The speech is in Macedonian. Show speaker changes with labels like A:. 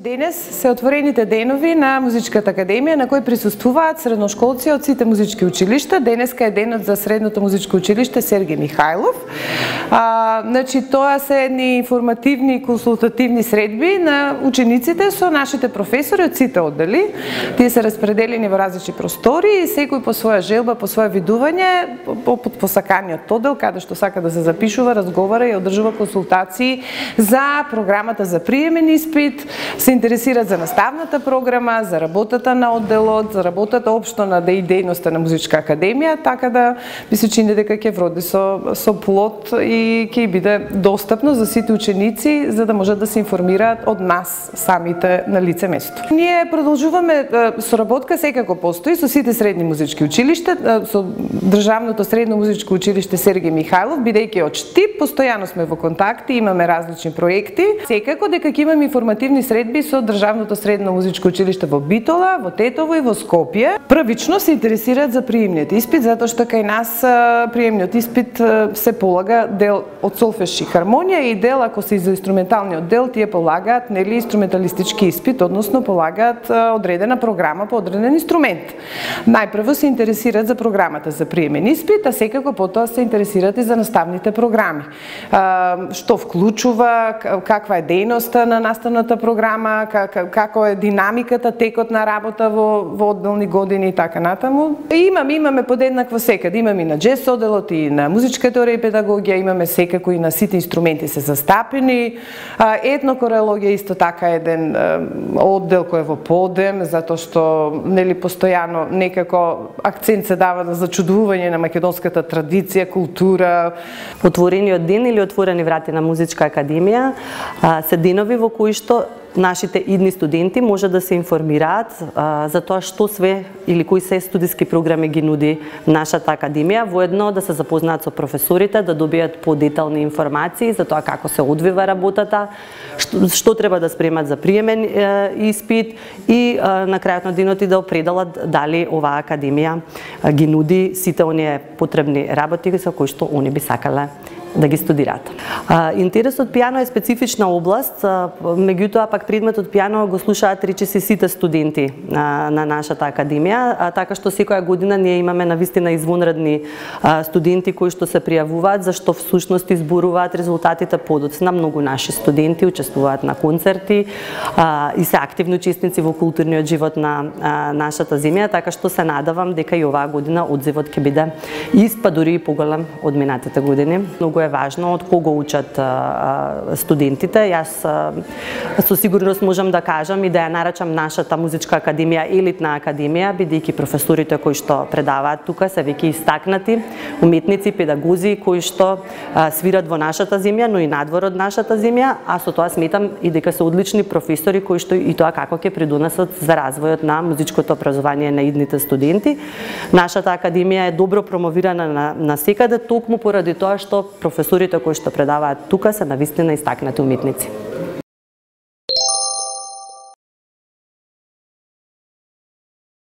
A: Денес се отворените денови на Музичката академија на кои присуствуваат средношколци од сите музички училишта. Денеска е денот за Средното музичко училиште Сергеј Михајлов. Тоа се едни информативни и консултативни средби на учениците со нашите професори од сите оддели. Тие се распределени во различни простори и секој по своја желба, по своје видување, по посаканиот оддел, каде што сака да се запишува, разговара и одржува консултации за програмата за приемен испит, се интересираат за наставната програма, за работата на одделот, за работата општо на дејноста на Музичка академија, така да ми се чини дека ќе вроди со плод и ќе биде достапно за сите ученици, за да можат да се информираат од нас самите на лице место. Ние продолжуваме соработка, секако постои со сите средни музички училишта, со Државното средно музичко училиште Сергеј Михајлов, бидејќи од Штип постојано сме во контакти, имаме различни проекти. Секако дека ќе имаме информативни средби со Државното средно музичко училиште во Битола, во Тетово и во Скопје. Првично се интересираат за приемниот испит, затоа што кај нас приемниот испит се полага дел од солфеж и хармонија и дел, ако се за инструменталниот дел, тие полагаат инструменталистички испит, односно полагаат одредена програма по одреден инструмент. Најпрво се интересираат за програмата за приемен испит, а секако потоа се интересираат и за наставните програми. Што вклучува, каква е дејноста на наставната програма, како е динамиката, текот на работа во одделни години и така натаму. Имаме подеднакво секаде, имаме и на джез одделот и на музичка теорија и педагогија, имаме секако и на сите инструменти се застапени. Етнокорелогија исто така еден оддел кој е во подем, затоа што постојано некако акцент се дава на зачудување на македонската традиција, култура.
B: Отворениот ден или отворени врати на Музичка академија се денови во кои што нашите идни студенти може да се информираат за тоа што све или кои се студиски програми ги нуди нашата академија, воедно да се запознаат со професорите, да добијат подетални информации за тоа како се одвива работата, што треба да спремат за приемен испит и на крајот на денот и да определат дали оваа академија ги нуди сите оние потребни работи со кои што они би сакале да ги студираат. Интересот пијано е специфична област, меѓутоа пак предметот пијано го слушаат речиси сите студенти на нашата академија, така што секоја година ние имаме навистина извонредни студенти кои што се пријавуваат, зашто всушност изборуваат резултатите подоцна. Многу наши студенти учествуваат на концерти и се активни учесници во културниот живот на нашата земја, така што се надавам дека и оваа година одзивот ќе биде ист, па дури и поголем од минатите години. Многу е важно од кого учат студентите. Јас со сигурност можам да кажам и да ја нарачам нашата Музичка академија елитна академија, бидејќи професорите кои што предаваат тука се веќе истакнати уметници, педагози кои што свират во нашата земја, но и надвор од нашата земја, а со тоа сметам и дека се одлични професори кои што и тоа како ќе придонесат за развојот на музичкото образование на идните студенти. Нашата академија е добро промовирана на секаде, токму поради тоа што професорите кои што предаваат тука се навистина истакнати уметници.